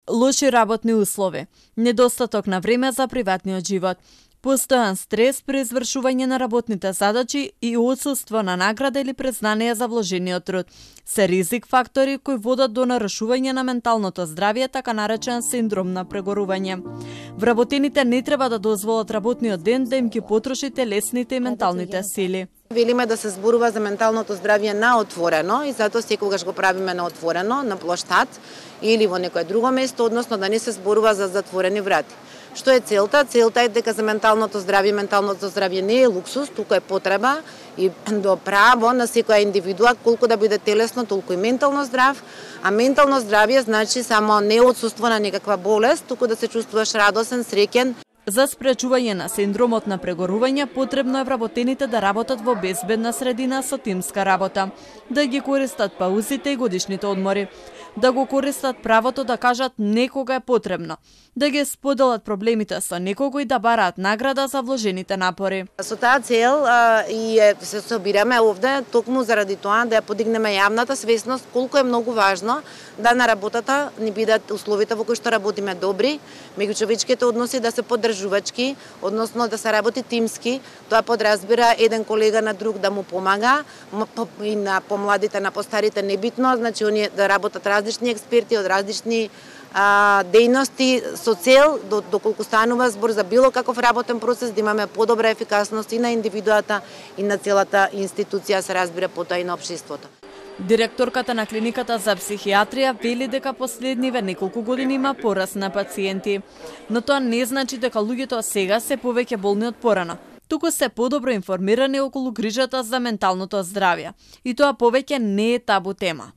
лоши работни услови, недостаток на време за приватниот живот, постојан стрес при извршување на работните задачи и отсуство на награда или признание за вложениот труд се ризик фактори кои водат до нарушување на менталното здравје, така наречен синдром на прегорување. Вработените не треба да дозволат работниот ден да им ги потроши телесните и менталните сили. Велиме да се зборува за менталното здравје на отворено и затоа секогаш го правиме на отворено, на плоштад или во некое друго место, односно да не се зборува за затворени врати. Што е целта? Целта е дека за менталното здравје не е луксус, туку е потреба и до право на секоја индивидуа, колку да биде телесно, толку и ментално здрав, а ментално здравје значи само не отсуство на некаква болест, туку да се чувствуваш радосен, среќен. За спречување на синдромот на прегорување потребно е вработените да работат во безбедна средина со тимска работа, да ги користат паузите и годишните одмори, да го користат правото да кажат не кога е потребно, да ги споделат проблемите со некого и да бараат награда за вложените напори. Со таа цел се собираме овде токму заради тоа да ја подигнеме јавната свесност колку е многу важно да на работата ни бидат условите во кои што работиме добри, меѓучовечките односи да се поддржувачки, односно да се работи тимски. Тоа подразбира еден колега на друг да му помага, и на помладите, на постарите небитно, значи оние да работат различни експерти од различни дејности со цел, доколку станува збор за било каков работен процес, да имаме подобра ефикасност и на индивидуата и на целата институција, се разбира потоа и на општеството. Директорката на клиниката за психијатрија вели дека последниве неколку години има пораст на пациенти, но тоа не значи дека луѓето сега се повеќе болни од порано. Туку се подобро информирани околу грижата за менталното здравје и тоа повеќе не е табу тема.